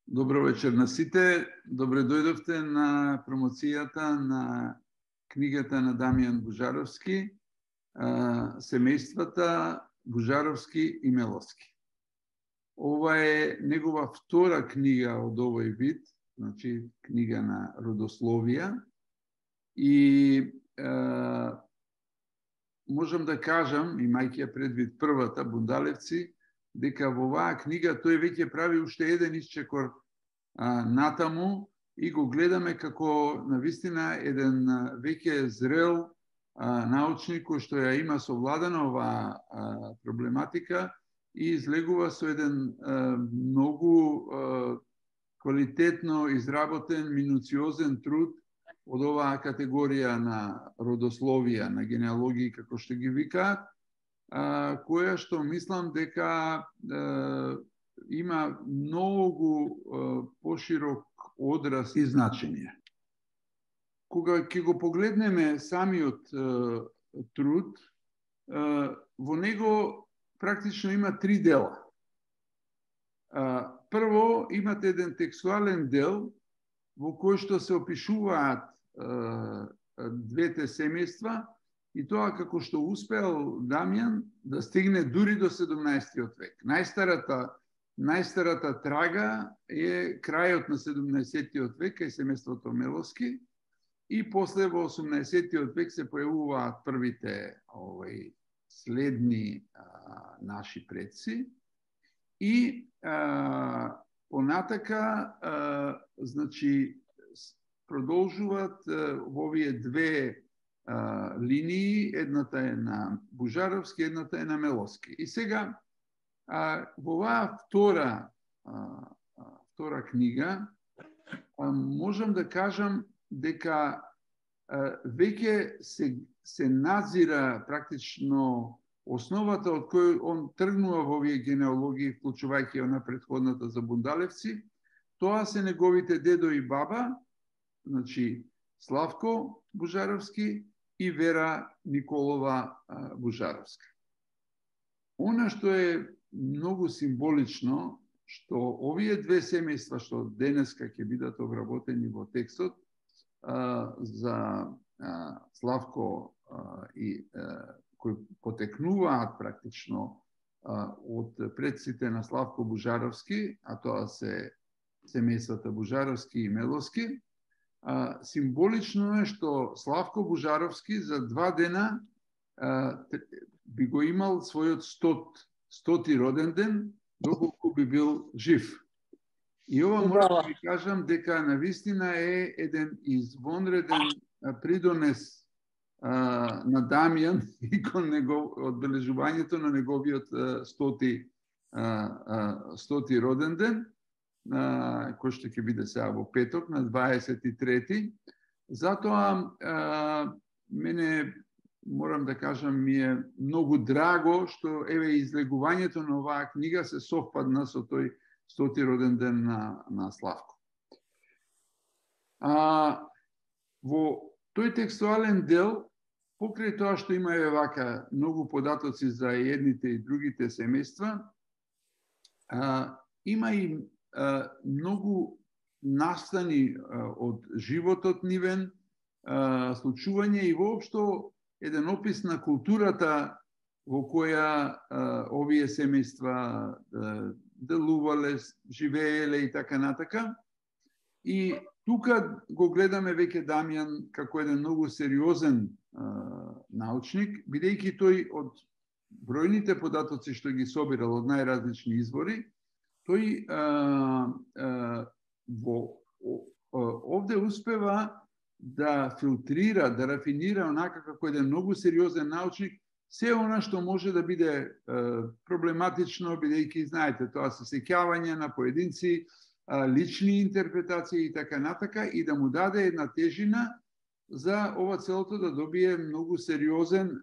Добро вечер на сите. Добре дојдовте на промоцијата на книгата на Дамјан Бужаровски, Семејствата Бужаровски и Меловски. Ова е негова втора книга од овој вид, значи книга на родословија. И можам да кажам, имајќи ја предвид првата, Бундалевци, дека во оваа книга тој веќе прави уште еден исчекор натаму и го гледаме како навистина еден веќе зрел научник кој што ја има совладана оваа проблематика и излегува со еден многу квалитетно изработен, минуциозен труд од оваа категорија на родословија, на генеалогии, како што ги викаат, која што мислам дека има многу поширок одраз и значење. Кога ќе го погледнеме самиот труд, во него практично има три дела. Прво, имате еден текстуален дел во кој што се опишуваат двете семејства, и тоа како што успеал Дамјан да стигне дури до 17. век. Најстарата трага е крајот на 17. век кај семејството Меловски и после во 18. век се појавуваат првите следни наши предци и понатака значи продолжуваат во овие две линии, едната е на Бужаровски, едната е на Меловски. И сега, во оваа втора книга, можам да кажам дека веќе се назира практично основата од кој он тргнува во овие генеалогии, вклучувајќи она претходната за Бундалевци. Тоа се неговите дедо и баба, значи Славко Бужаровски и Вера Николова Бужаровска. Она што е многу символично, што овие две семејства што денеска ќе бидат обработени во текстот за Славко и кои потекнуваат практично од предците на Славко Бужаровски, а тоа се семејствата Бужаровски и Меловски, символично е што Славко Бужаровски за 2 дена би го имал својот 100-ти роден ден, доколку би бил жив. И ова мора да ви кажам дека навистина е еден извонреден придонес на Дамјан и кон одбележувањето на неговиот 100-ти роден ден, кој што ќе биде сега во петок, на 23. Затоа, мене, морам да кажам, ми е многу драго што излегувањето на оваа книга се совпадна со тој 100-ти роден ден на Славко. Во тој текстуален дел, покрај тоа што има вака многу податоци за едните и другите семејства, има и многу настани од животот нивен, случување и воопшто еден опис на културата во која овие семејства делувале, живееле и така натака. И тука го гледаме веќе Дамјан како еден многу сериозен научник, бидејќи тој од бројните податоци што ги собирал од најразлични извори, тој овде успева да филтрира, да рафинира онака како еден многу сериозен научник се она што може да биде проблематично, бидејќи, знаете, тоа се сеќавање на поединци, лични интерпретации и така натака, и да му даде една тежина за ова целото да добие многу сериозен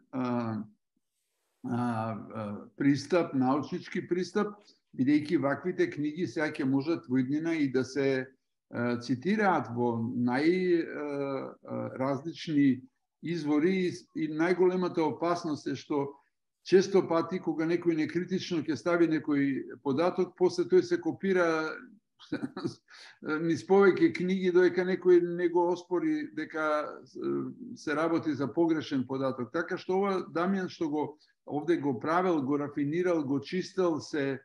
пристап, научнички пристап, бидејќи ваквите книги сега ќе можат во иднина и да се цитираат во најразлични извори и најголемата опасност е што често пати кога некој некритично ќе стави некој податок, после тој се копира низ повеќе книги додека некој не го оспори дека се работи за погрешен податок. Така што ова Дамјан што го овде го правил, го рафинирал, го чистил, се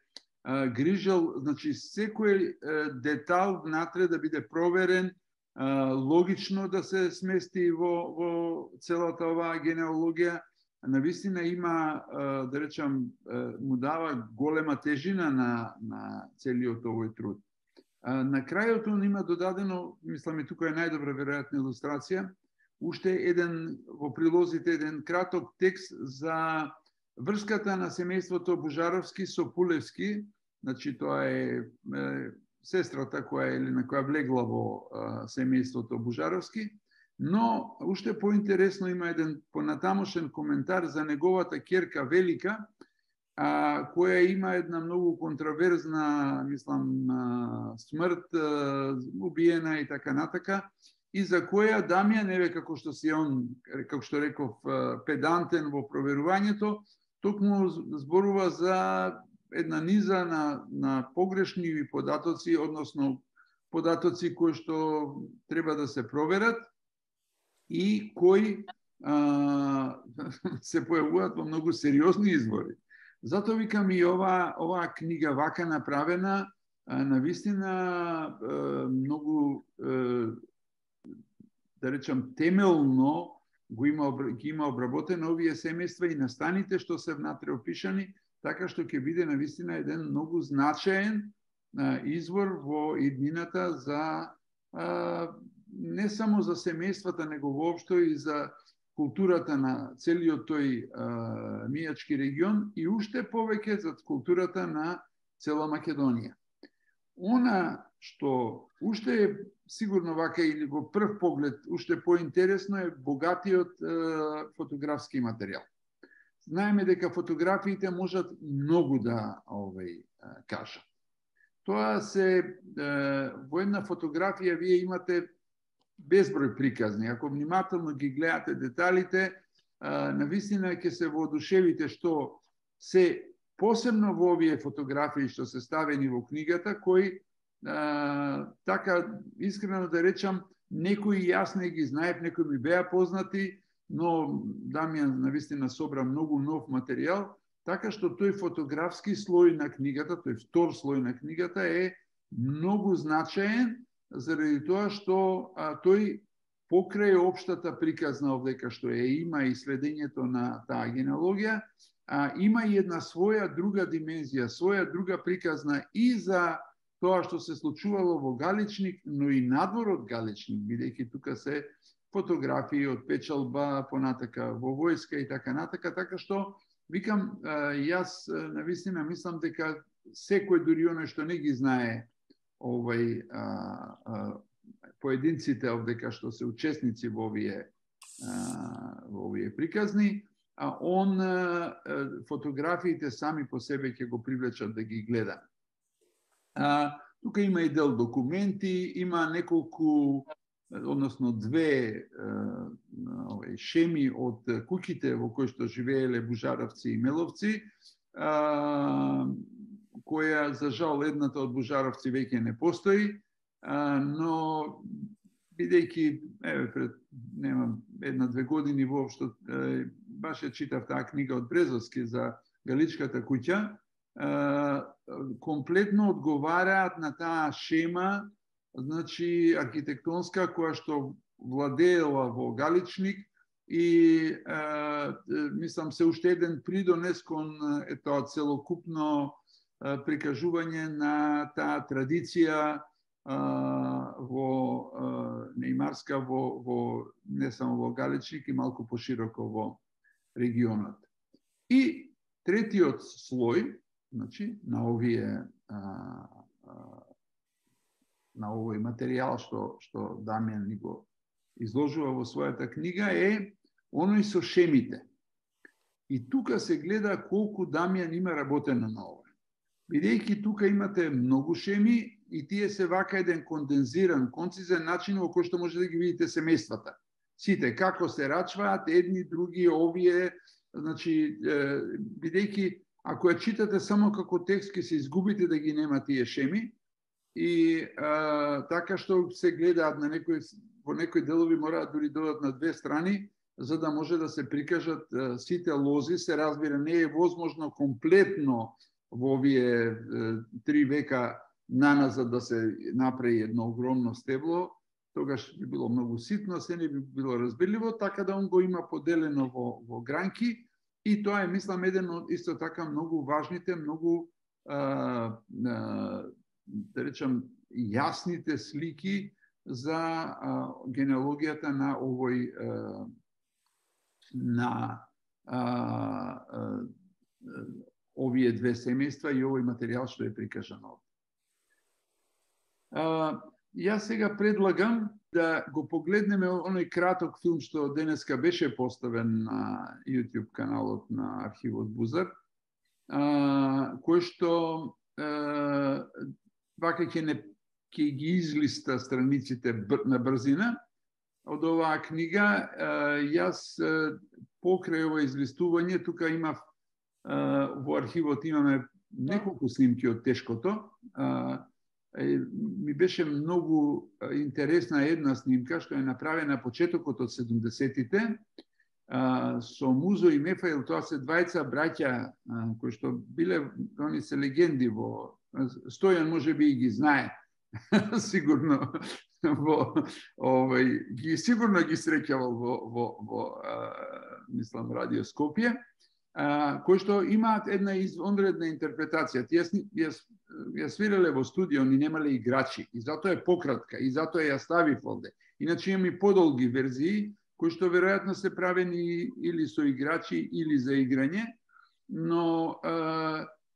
грижал, значи секој детал внатре да биде проверен, логично да се смести во целата оваа генеалогија. Навистина има, да речам, му дава голема тежина на целиот овој труд. На крајот он има додадено, мислам и тука е најдобра веројатна илустрација, уште еден во прилозите еден краток текст за врската на семејството Бужаровски со Пулевски, значи тоа е сестрата која или на која влегла во семејството Бужаровски, но уште поинтересно има еден понатамошен коментар за неговата ќерка Велика, која има една многу контраверзна, мислам, смрт, убиена и така натака, и за која Дамјан, еве како што си он, како што реков, педантен во проверувањето, токму зборува за една низа на погрешни податоци, односно податоци кои што треба да се проверат и кои се појавуваат во многу сериозни извори. Затоа викам и оваа книга вака направена, навистина многу, да речам, темелно ги има обработено овие семејства и настаните што се внатре опишани, така што ќе биде навистина еден многу значаен извор во иднината за не само за семејствата, него воопшто и за културата на целиот тој мијачки регион и уште повеќе за културата на цела Македонија. Она што уште е сигурно вака или во прв поглед уште поинтересно е богатиот фотографски материјал. Знаеме дека фотографиите можат многу да кажат. Тоа се во една фотографија вие имате безброј приказни. Ако внимателно ги гледате деталите, навистина ќе се воодушевите што се посебно во овие фотографии што се ставени во книгата, кои така искрено да речам, некои јас не ги знаев, некои ми беа познати, но Дамјан навистина собра многу нов материјал, така што тој фотографски слој на книгата, тој втор слој на книгата е многу значаен, заради тоа што тој покрај општата приказна овдека што има и следењето на таа генеалогија, има и една своја друга димензија, своја друга приказна и за тоа што се случувало во Галичник, но и надвор од Галичник, бидејќи тука се фотографии од печалба, понатака во војска и така натака, така што викам, јас навистина мислам дека секој дури оној што не ги знае поединците овдека што се учесници во овие приказни, он фотографиите сами по себе ќе го привлечат да ги гледа. Тука има и дел документи, има неколку, односно две шеми од куќите во кои што живееле Бужаровци и Меловци, која, за жал, едната од Бужаровци веќе не постои, но бидејќи, пред една-две години воопшто, баш ја читав таа книга од Брезовски за Галичката куќа, комплетно одговараат на таа шема, значи архитектонска, која што владеела во Галичник и мислам се уште еден придонес кон тоа целокупно прикажување на таа традиција неимарска во не само во Галичник и малку пошироко во регионот. И третиот слој, значи на овој материјал што Дамјан ни го изложува во својата книга е оној со шемите. И тука се гледа колку Дамјан има работено на ова. Бидејќи тука имате многу шеми и тие се вака еден кондензиран, концизен начин во кој што може да ги видите семејствата. Сите, како се рачваат, едни, други, овие, значи, бидејќи ако ја читате само како текст, ќе се изгубите да ги нема тие шеми, и така што се гледаат на во некои делови мораат дури додат на две страни, за да може да се прикажат сите лози. Се разбира, не е возможно комплетно во овие 3 века наназад да се направи едно огромно стебло, тогаш би било многу ситно, се не би било разбирливо, така да он го има поделено во гранки, и тоа е, мислам, еден од исто така многу важните, многу да речам јасните слики за генеалогијата на овој на овие две семејства и овој материјал што е прикажан овде. Јас сега предлагам да го погледнеме оној краток филм што денеска беше поставен на YouTube каналот на Архивот Бузар, кој што вака ќе ги излиста страниците на брзина од оваа книга. Јас покрај ова излистување, тука имав во архивот имаме неколку снимки од тешкото. Ми беше многу интересна една снимка што е направена почетокот од 70-тите со Музо и Мефаил. Тоа се двајца браќа кои што биле, они се легенди во Стојан можеби и ги знае сигурно сигурно ги среќавал во мислам Радио Скопје, кои што имаат една извонредна интерпретација. Ја свиреле во студио, ни немале играчи, и затоа е пократка, и затоа ја ставив овде. Иначе имам и подолги верзии, кои што веројатно се правени или со играчи, или за играње, но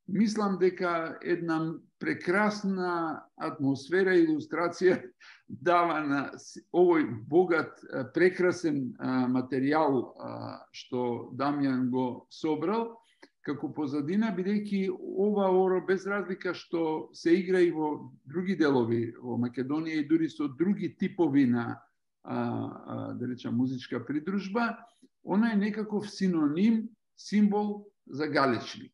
мислам дека една прекрасна атмосфера и илустрација дава на овој богат, прекрасен материјал што Дамјан го собрал како позадина, бидејќи ова оро, без разлика што се игра и во други делови во Македонија и дури со други типови на да речам музичка придружба, она е некаков синоним, символ за галечник.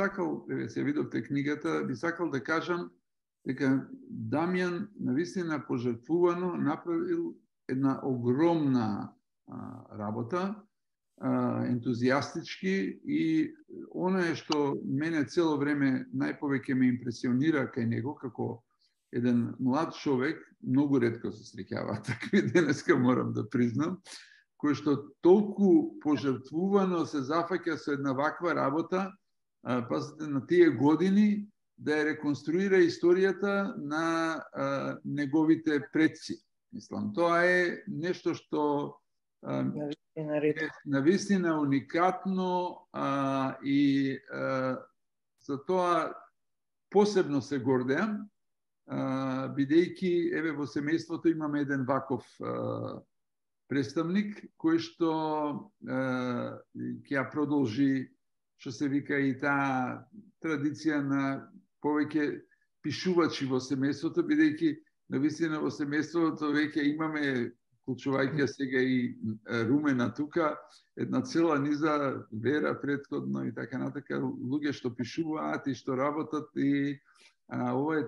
сакал, се видовте книгата, би сакал да кажам дека Дамјан навистина пожртвувано направил една огромна работа, ентузијастички, и она е што мене цело време најповеќе ме импресионира кај него, како еден млад човек, многу ретко се среќава такви денеска, морам да признам, кој што толку пожртвувано се зафаќа со една ваква работа, пазите, на тие години, да ја реконструира историјата на неговите предци. Мислам, тоа е нешто што навистина уникатно, и за тоа посебно се гордеам, бидејќи еве во семејството имаме еден ваков представник кој што ќе ја продолжи, што се вика, и таа традиција на повеќе пишувачи во семејството, бидејќи навистина во семејството веќе имаме, вклучувајќи сега и Румена тука, една цела низа Вера претходно и така натака, луѓе што пишуваат и што работат, и ова е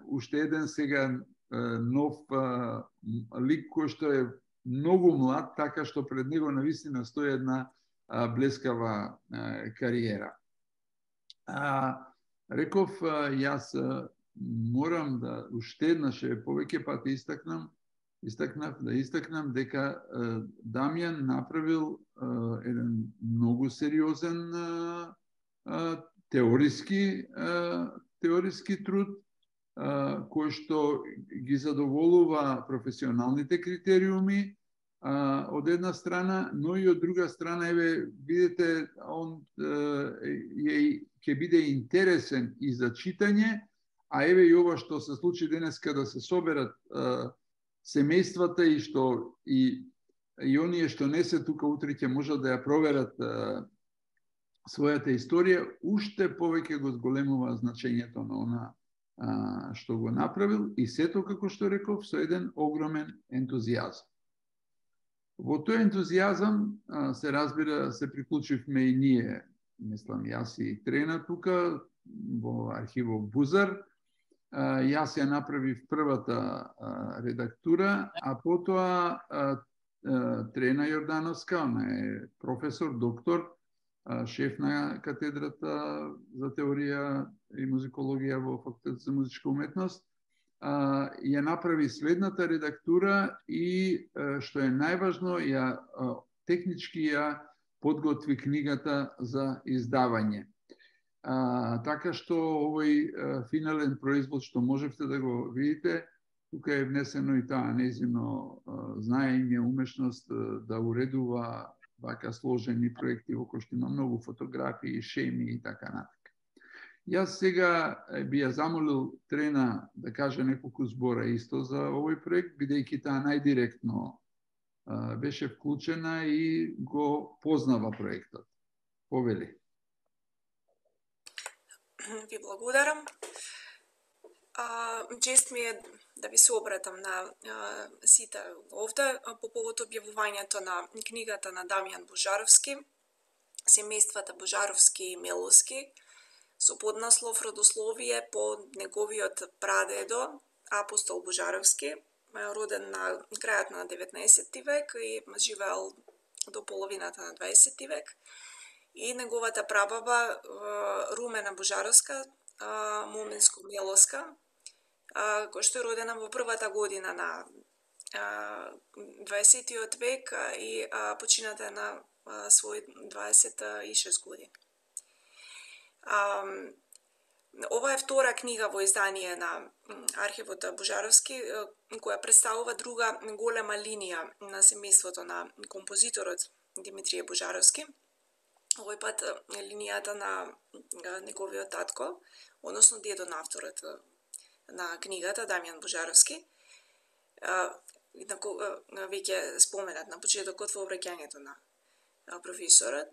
уште еден сега нов лик кој што е многу млад, така што пред него навистина стои една блескава кариера. Реков, јас морам да уште еднаш повеќе пати истакнам дека Дамјан направил еден многу сериозен теориски труд, кој што ги задоволува професионалните критериуми од една страна, но и од друга страна, еве, видите, он ќе биде интересен и за читање, а еве и ова што се случи денеска, да се соберат семејствата и што и оние што не се тука утре ќе можат да ја проверат својата историја, уште повеќе го зголемува значењето на она што го направил, и сето, како што реков, со еден огромен ентузијазам. Во тој ентузијазам се разбира, се приклучивме и ние, мислам, јас и Трена тука во архивот Бузар. Јас ја направив првата редактура, а потоа Трена Јордановска, она е професор, доктор, шеф на катедрата за теорија и музикологија во Факултетот за музичка уметност, ја направи следната редактура и, што е најважно, технички ја подготви книгата за издавање. Така што овој финален производ што можевте да го видите, тука е внесено и таа нејзино знаење, умешност да уредува вака сложени проекти во кои што има многу фотографии, шеми и така натака. Јас сега би ја замолил Трена да каже неколку збора исто за овој проект, бидејќи таа најдиректно беше вклучена и го познава проектот. Повели. Ви благодарам. Чест ми е да ви се обратам на сите овде по повод објавувањето на книгата на Дамјан Божаровски, Семејствата Божаровски и Меловски, со поднаслов Родословие по неговиот прадедо Апостол Божаровски, роден на крајот на 19 век и живеел до половината на 20 век, и неговата прабаба Румена Божаровска, Моминско-Меловска, која што е родена во првата година на 20 век и почината на свој 26 години. Ова е втора книга во издание на архивот Божаровски, која представува друга голема линија на семејството на композиторот Димитрije Божаровски. Овој пат линијата на неговиот татко, односно дедо на авторот на книгата, Дамјан Божаровски, веќе споменат на почетокот во обраќањето на професорот.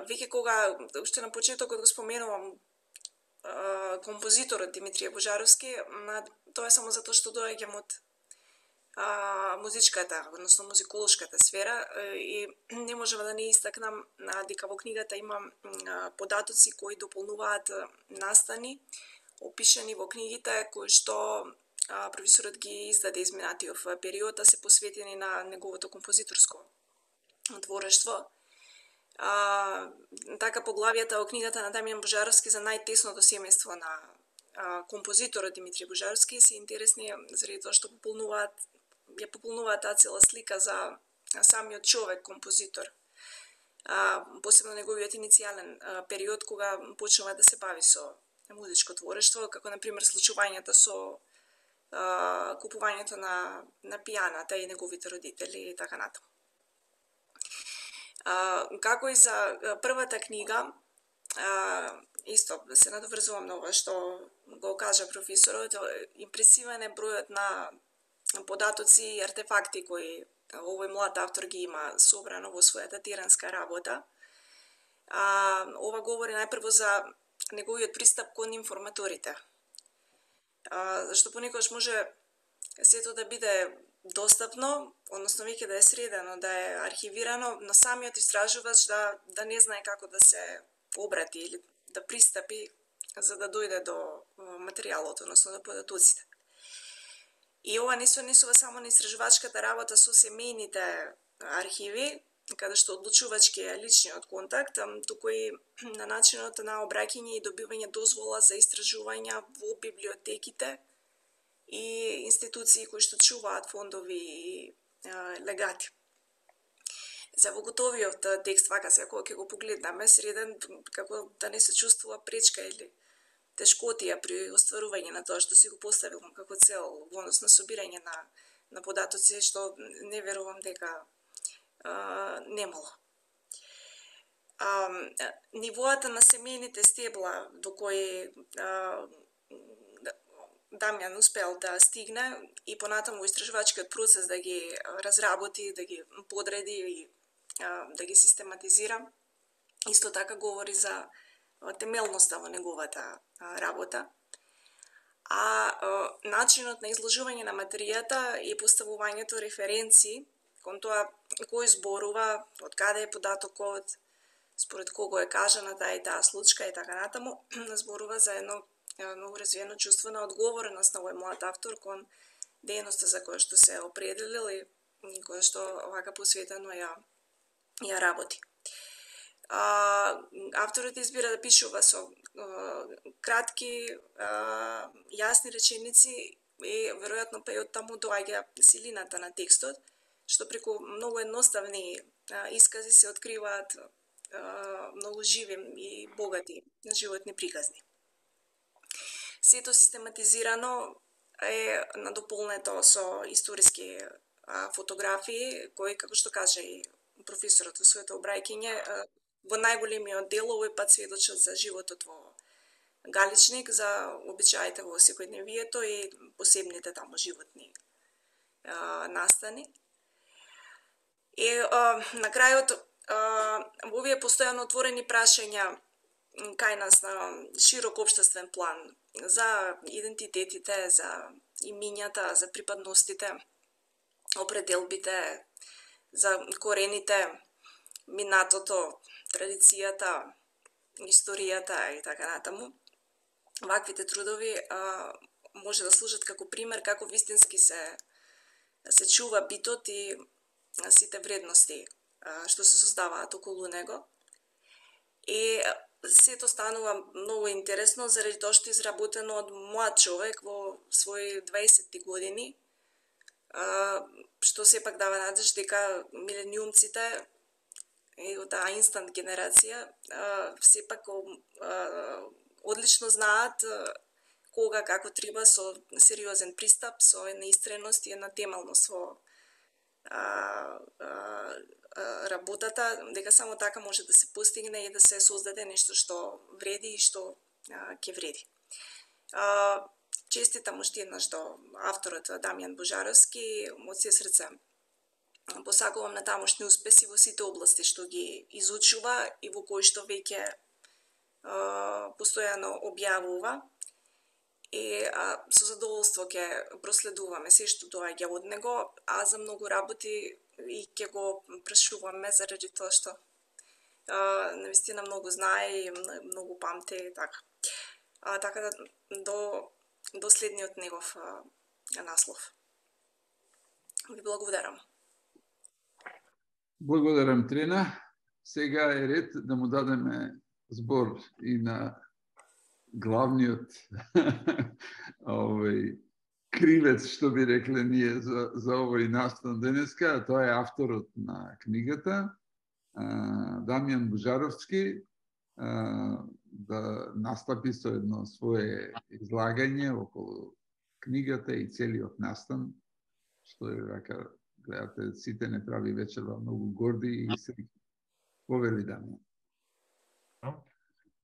Веќе кога уште на почетокот го споменувам композиторот Димитрije Божаровски, тоа е само затоа што доаѓам од музичката, односно музиколошката сфера, и не можеме да не истакнам дека во книгата има податоци кои дополнуваат настани, опишани во книгите, кои што професорот ги издаде изминатиот период, се посветени на неговото композиторско творештво. Така поглавијата во книгата на Дамјан Божаровски за најтесното семејство на композиторот Димитрije Божаровски се интересни заради тоа што пополнуваат таа цела слика за самиот човек композитор. Посебно неговиот иницијален период кога почнува да се бави со музичко творештво, како на пример случувањата со купувањето на пијаната и неговите родители и така натаму. Како и за првата книга, исто се надоврзувам на ова што го кажа професорот, импресивен е бројот на податоци и артефакти кои овој млад автор ги има собрано во својата теранска работа. Ова говори најпрво за неговиот пристап кон информаторите. Зашто понекогаш може сето да биде достапно, односно веќе да е средено, да е архивирано, но самиот истражувач да не знае како да се обрати или да пристапи за да дојде до материјалот, односно до податоците. И ова не се однесува само на истражувачката работа со семејните архиви, каде што одлучувачки е личниот контакт, туку и на начинот на обраќање и добивање дозвола за истражувања во библиотеките и институции кои што чуваат фондови и легати. За во готовиот текст, вака се, кога ќе го погледнаме, среден, како да не се чувствува пречка или тешкотија при остварување на тоа што си го поставил како цел во однос на собирање на податоци, што не верувам дека немало. Нивоата на семејните стебла до кои Дамјан успел да стигне и понатаму во истражувачкиот процес да ги разработи, да ги подреди и да ги систематизира, исто така говори за темелноста во неговата работа. Начинот на изложување на материјата и поставувањето референци кон тоа кој зборува, од каде е податокот, според кого е кажана таа и таа случка и така натаму, зборува за едно многу развиено чувство на одговореност на овој млад автор кон дејноста за која што се определил и која што овака посветено ја работи. Авторот избира да пишува со кратки, јасни реченици и веројатно па и од таму доаѓа силината на текстот, што преку многу едноставни искази се откриваат многу живи и богати животни приказни. Сето систематизирано е надополнето со историски фотографии, кои, како што каже и професорот во своето обраќање, во најголемиот дел овој пат сведочат за животот во Галичник, за обичаите во секојдневието и посебните таму животни настани. И на крајот, во овие постојано отворени прашања кај нас на широк општествен план за идентитетите, за имињата, за припадностите, определбите, за корените, минатото, традицијата, историјата и така натаму. Ваквите трудови може да служат како пример како вистински се чува битот и сите вредности што се создаваат околу него. И сето станува многу интересно заради тоа што изработено од млад човек во своји 20 години, што сепак дава надеж дека милениумците и таа инстант генерација сепак одлично знаат кога, како треба со сериозен пристап, со една истреност и една темелност во работата, дека само така може да се постигне и да се создаде нешто што вреди и што ќе вреди. Честитам уште еднаш до авторот Дамјан Божаровски, од се срце посакувам на тамошни успеси во сите области што ги изучува и во кои што веќе постојано објавува. и со задоволство ќе проследуваме се што доаѓа од него, а за многу работи и ќе го прашуваме заради тоа што навистина многу знае и многу памти, така. Така да до следниот негов наслов. Ви благодарам. Благодарам, Трена. Сега е ред да му дадеме збор и на главниот кривец, што би рекле ние за овој настан денеска, а тоа е авторот на книгата, Дамјан Бужаровски, да настапи со едно свое излагање околу книгата и целиот настан, што е вака, гледате, сите не прави вечерва многу горди и среќни. Повели, Дамјан.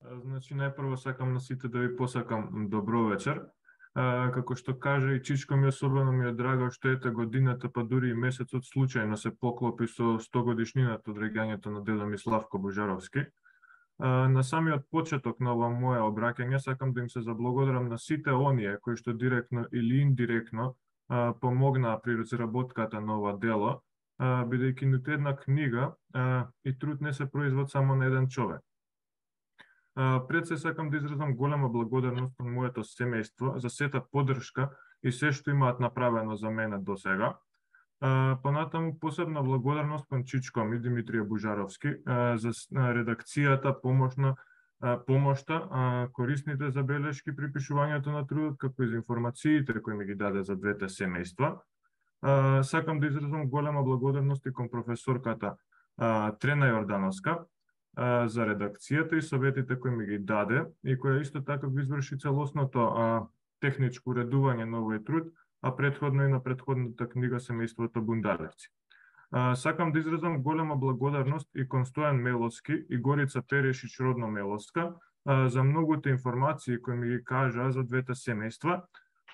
Значи, најпрво сакам на сите да ви посакам добро вечер. Како што кажа и Чичко, особено ми е драго што ете годината, па дури и месецот случајно се поклопи со 100 годишнината од реѓањето на дедо ми Славко Бужаровски. На самиот почеток на ова мое обраќање сакам да им се заблагодарам на сите оние кои што директно или индиректно помогнаа при разработката на ова дело, бидејќи ниту една книга и труд не се производ само на еден човек. Пред се сакам да изразам голема благодарност на моето семејство за сета поддршка и се што имаат направено за мене до сега. Понатаму посебна благодарност кон Чичко ми Димитрije Бужаровски за редакцијата, помошта, корисните забелешки при пишувањето на трудот, како и за информациите кои ми ги даде за двете семејства. Сакам да изразам голема благодарност и кон професорката Трена Јордановска за редакцијата и советите кои ми ги даде и која исто така го изврши целосното техничко уредување на овој труд, а претходно и на претходната книга Семејството Бундалевци. Сакам да изразам голема благодарност и кон Стојан Меловски и Горица Перешич родно Меловска за многуте информации кои ми ги кажаа за двете семејства,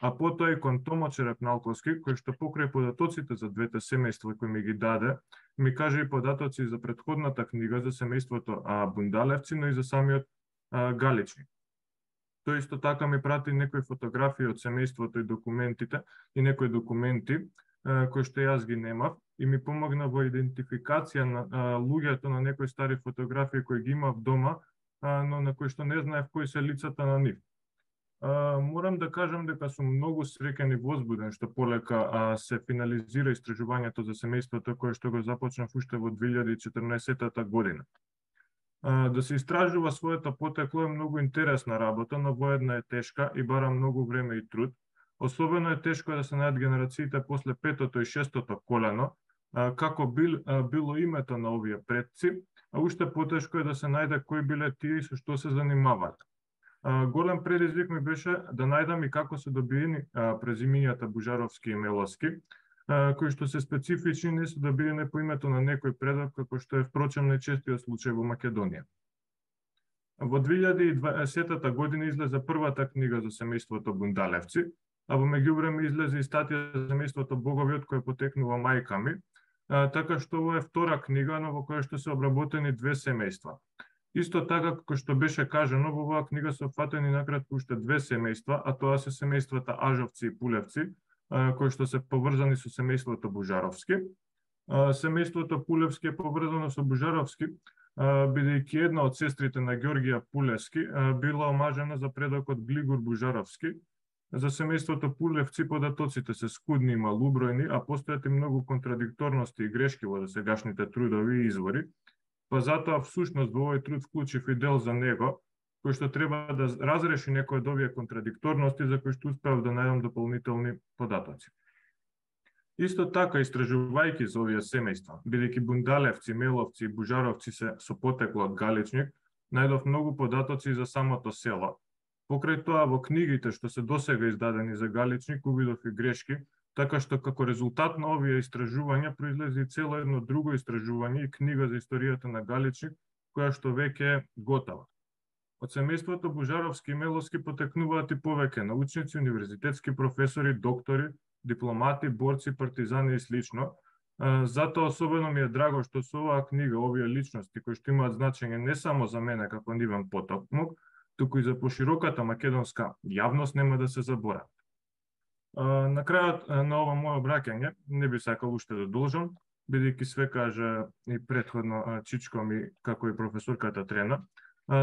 а потоа и кон Томо Черепналковски, кој што покрај податоците за двете семејства кои ми ги даде, ми кажа и податоци за претходната книга за семејството Бундалевци, но и за самиот Галичник. Тој исто така ми прати некои фотографии од семејството и документите и некои документи кои што јас ги немав и ми помогна во идентификација на луѓето на некои стари фотографии кои ги имав дома, но на кои што не знаев кои се лицата на нив. Морам да кажам дека сум многу среќен и возбуден што полека се финализира истражувањето за семејството кое што го започнав уште во 2014 година. Да се истражува своето потекло е многу интересна работа, но воедно е тешка и бара многу време и труд. Особено е тешко да се најдат генерациите после петото и шестото колено, како било името на овие предци, а уште потешко е да се најде кои биле тие и со што се занимаваат. Голем предизвик ми беше да најдам и како се добиени презимињата Бужаровски и Меловски, кои што се специфични, не се добиени по името на некој предок, како што е впрочем најчестиот случај во Македонија. Во 2020 година излезе првата книга за семејството Бундалевци, а во меѓувреме излезе и статија за семејството Боговиот кој потекнува мајка ми, така што ова е втора книга, но во која што се обработени две семејства. Исто така, како што беше кажано, во оваа книга се опфатени накратко уште две семејства, а тоа се семејствата Ажовци и Пулевци, кои што се поврзани со семејството Бужаровски. Семејството Пулевски е поврзано со Бужаровски, бидејќи една од сестрите на Ѓорѓија Пулевски била омажена за предокот Глигор Бужаровски. За семејството Пулевци податоците се скудни и малубројни, а постојат и многу контрадикторности и грешки во досегашните трудови и извори, па затоа всушност во овој труд вклучив и дел за него, кој што треба да разреши некои од овие контрадикторности за кои што успеав да најдам дополнителни податоци. Исто така, истражувајќи за овие семејства, бидејќи Бундалевци, Меловци и Бужаровци се со потекло од Галичник, најдов многу податоци за самото село. Покрај тоа, во книгите што се досега издадени за Галичник, увидов и грешки, така што како резултат на овие истражувања произлезе и цело едно друго истражување и книга за историјата на Галичник, која што веќе е готова. Од семејството Бужаровски и Меловски потекнуваат и повеќе научници, универзитетски професори, доктори, дипломати, борци, партизани и слично. Затоа особено ми е драго што со оваа книга овие личности кои што имаат значење не само за мене како нивен потомок, туку и за пошироката македонска јавност нема да се заборават. На крајот на ова моје обраќање не би сакал уште да должам, бидејќи све кажа и претходно Чичко ми, како и професорката Трена.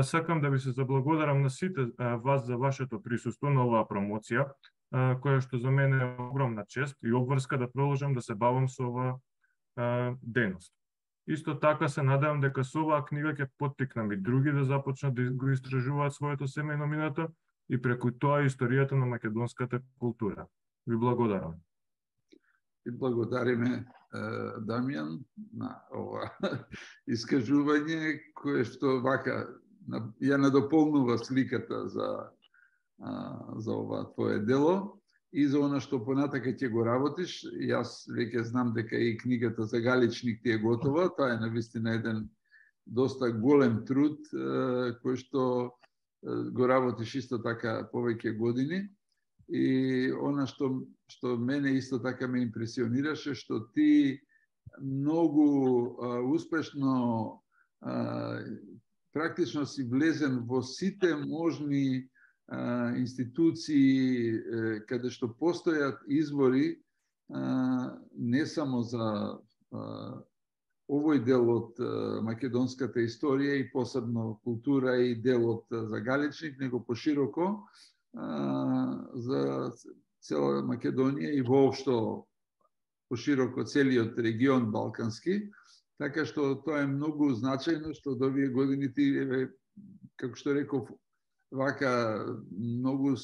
Сакам да ви се заблагодарам на сите вас за вашето присуство на оваа промоција, која што за мене е огромна чест и обврска да продолжам да се бавам со оваа дејност. Исто така се надевам дека со оваа книга ќе поттикнам и други да започнат да го истражуваат своето семејно минато и преку тоа историјата на македонската култура. Ви благодарам. И благодариме Дамјан на ова искажување кое што вака ја надополнува сликата за ова твое дело и за она што понатака ќе го работиш. Јас веќе знам дека и книгата за Галичник ти е готова. Тоа е навистина еден доста голем труд кој што го работиш исто така повеќе години. И она што мене исто така ме импресионираше, што ти многу успешно практично си влезен во сите можни институции каде што постојат извори не само за овој дел од македонската историја и посебно култура и делот за Галичник, него пошироко за цела Македонија и воопшто пошироко целиот регион балкански. Така што тоа е многу значајно што до овие години ти, како што реков, вака многу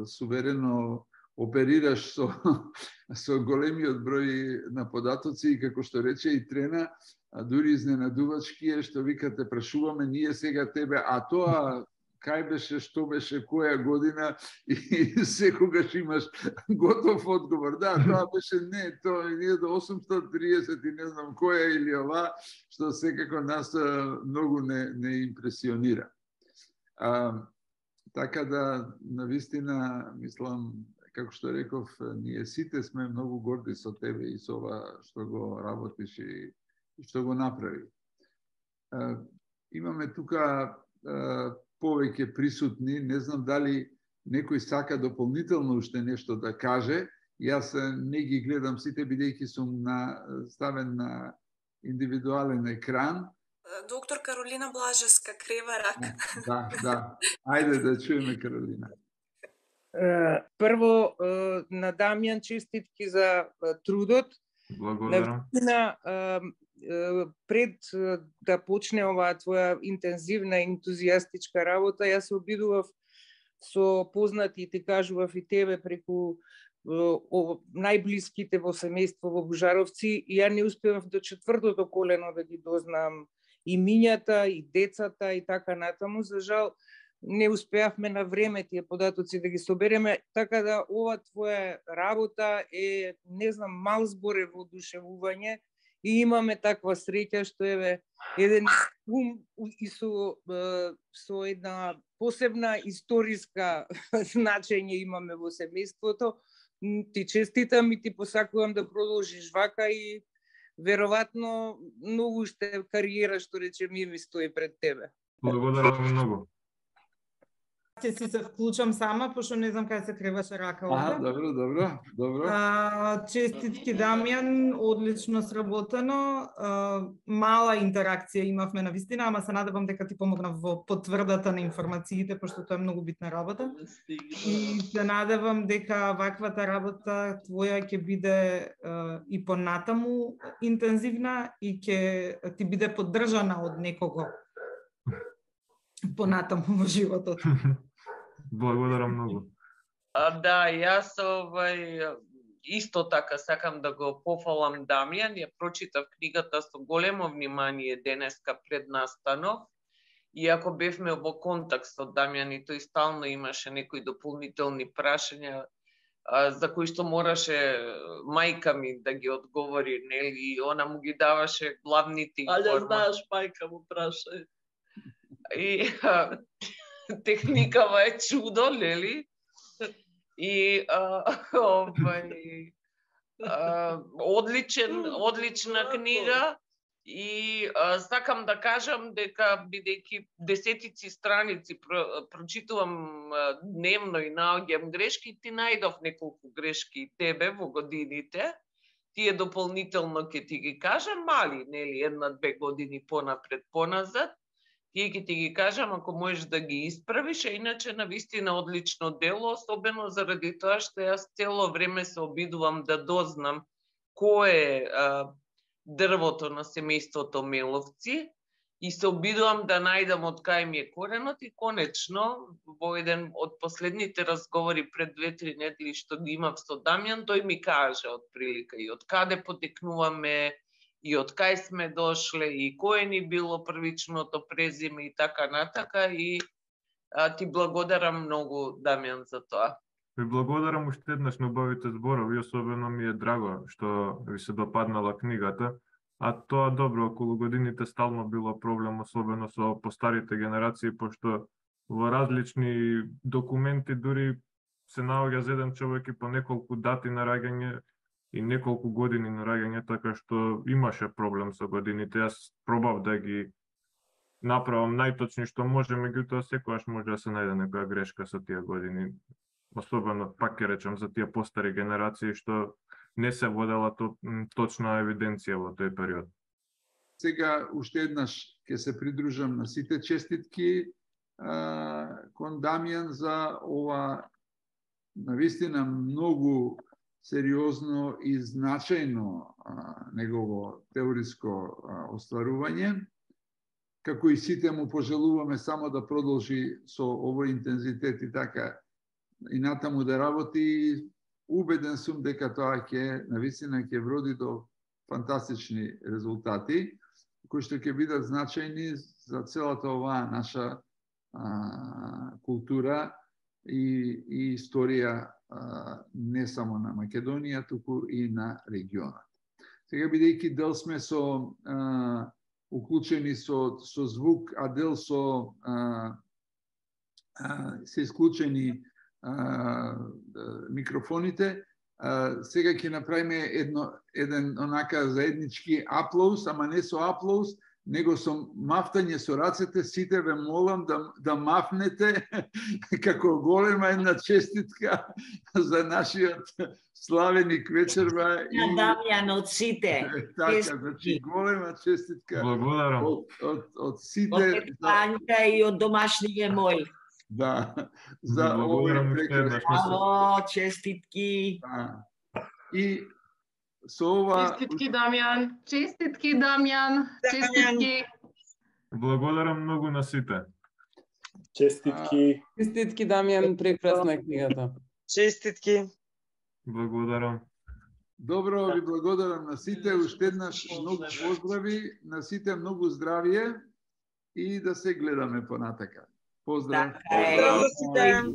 суверено оперираш со големиот број на податоци и како што рече и Трена, дури изненадувачки е што викате прашуваме ние сега тебе, а тоа кај беше, што беше, која година и секогаш имаш готов одговор. Да, тоа беше не, тоа е до 830 и не знам која или ова, што секако нас многу не импресионира. Така да, навистина, мислам, како што реков, ние сите сме многу горди со тебе и со ова што го работиш и што го направи. Имаме тука повеќе присутни, не знам дали некој сака дополнително уште нешто да каже. Јас не ги гледам сите, бидејќи сум ставен на индивидуален екран. Доктор Каролина Блажевска крива рака. Да. Ајде да чуеме Каролина. Прво, на Дамјан честитки за трудот. Благодарам. Пред да почне оваа твоја интензивна и ентузијастичка работа, јас се обидував со познати и ти кажував и тебе преку најблиските во семејство во Божаровци и ја не успевав до четвртото колено да ги дознам имињата и децата и така натаму. За жал, не успеавме на време тие податоци да ги собереме, така да ова твоја работа е, не знам, мал збор е воодушевување и имаме таква среќа што е еден ум и со една посебна историска значење имаме во семејството. Ти честитам и ти посакувам да продолжиш вака и веројатно многу уште кариера, што речем, ми стои пред тебе. Благодарам многу. Ќе си се вклучам сама, пошто не знам кај се креваше рака овде. Добро. Честитки Дамјан, одлично сработено. Мала интеракција имавме на вистина, ама се надевам дека ти помогнав во потврдата на информациите, пошто тоа е многу битна работа. И се надевам дека ваквата работа твоја ќе биде и понатаму интензивна и ќе ти биде поддржана од некого понатаму во животот. Благодарам многу. Да, јас исто така сакам да го пофалам Дамјан. Ја прочитав книгата со големо внимание денеска пред настанов. Иако бевме во контакт со Дамјан и тој стално имаше некои дополнителни прашања за кои што мораше мајка ми да ги одговори, нели, и она му ги даваше главните информации. Але знаеш, мајка му праша. И техникава е чудо, нели? И одлична книга И сакам да кажам дека бидејќи десетици страници прочитувам дневно и наоѓам грешки, ти најдов неколку грешки тебе во годините. Тие дополнително ќе ти ги кажам, мали, нели, 1-2 години понапред, поназад. Тие ќе ти ги кажам ако можеш да ги исправиш, а иначе навистина одлично дело, особено заради тоа што јас цело време се обидувам да дознам кој е дрвото на семејството Меловци и се обидувам да најдам од кај ми е коренот и конечно во еден од последните разговори пред 2-3 недели што ги имав со Дамјан, тој ми кажа отприлика и од каде потекнуваме и од кај сме дошле и кое ни било првичното презиме и така натака и ти благодарам многу, Дамјан, за тоа. Ви благодарам уште еднаш на убавите зборови, особено ми е драго што ви се допаднала книгата, а тоа добро, околу годините стално било проблем, особено со постарите генерации, пошто во различни документи дури се наоѓа за еден човек и по неколку дати на раѓање и неколку години на раѓање, така што имаше проблем со годините. Јас пробав да ги направам најточни што може, меѓутоа секогаш може да се најде некоја грешка со тие години. Особено, пак ќе речам, за тие постари генерации што не се водела точна евиденција во тој период. Сега уште еднаш ќе се придружам на сите честитки кон Дамјан за ова навистина многу сериозно и значајно негово теориско остварување. Како и сите му пожелуваме само да продолжи со овој интензитет и така и натаму да работи. Убеден сум дека тоа ќе навистина ќе вроди до фантастични резултати, кои што ќе бидат значајни за целата оваа наша култура и историја не само на Македонија, туку и на регионот. Сега, бидејќи дел сме со уклучени со звук, а дел со се исклучени микрофоните, сега ќе направиме еден онака заеднички аплауз, ама не со аплауз, него со мафтање со рацете. Сите ве молам да мафнете како голема една честитка за нашиот славеник вечерва. И Дамјан од сите. Така, значи голема честитка. Благодарам. Од сите. Од Анка и од домашниве мој. Да, за овој прекрасен. Браво, честитки. И со ова... Честитки, Дамјан. Честитки, Дамјан. Честитки. Благодарам многу на сите. Честитки. Честитки, Дамјан, прекрасна е книгата. Честитки. Благодарам. Добро, ви благодарам на сите. Уште еднаш многу поздрави, на сите многу здравје и да се гледаме понатака. Поздрав. Поздрав.